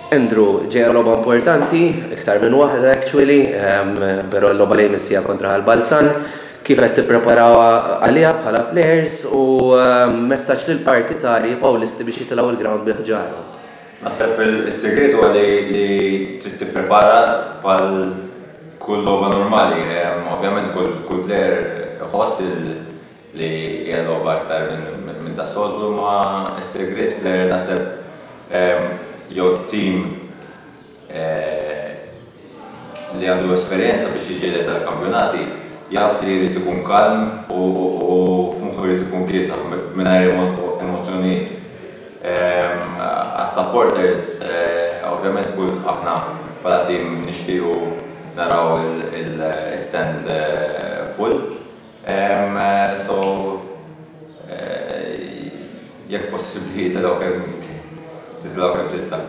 Andrew, ġejja logħba importanti, iktar minn waħda actually, però l-logħba li jmiss hija kontra Ħal Balzan. Kif qed tippreparaw għaliha bħala players u messaġġ lill-partitarji Pawlisti biex jitilgħu l-ground bi ħġarhom? Naħseb is-sigriet huwa li trid tipprepara bħal kull logħba normali. Ovvjament kull player iħoss li hija logħba iktar minn tas-soltu, imma s-sigriet player naħseb jew team li għandu esperjenza biex jiġġieled għall-kampjonati jaf li jrid ikun kalm u f'moħħu jrid ikun kiesaħ mingħajr emozzjonijiet. Għas-supporters ovvjament kull aħna bħala team nixtiequ naraw il-stand full. So jekk possibbli titilgħu kemm titilgħu kemm tista'.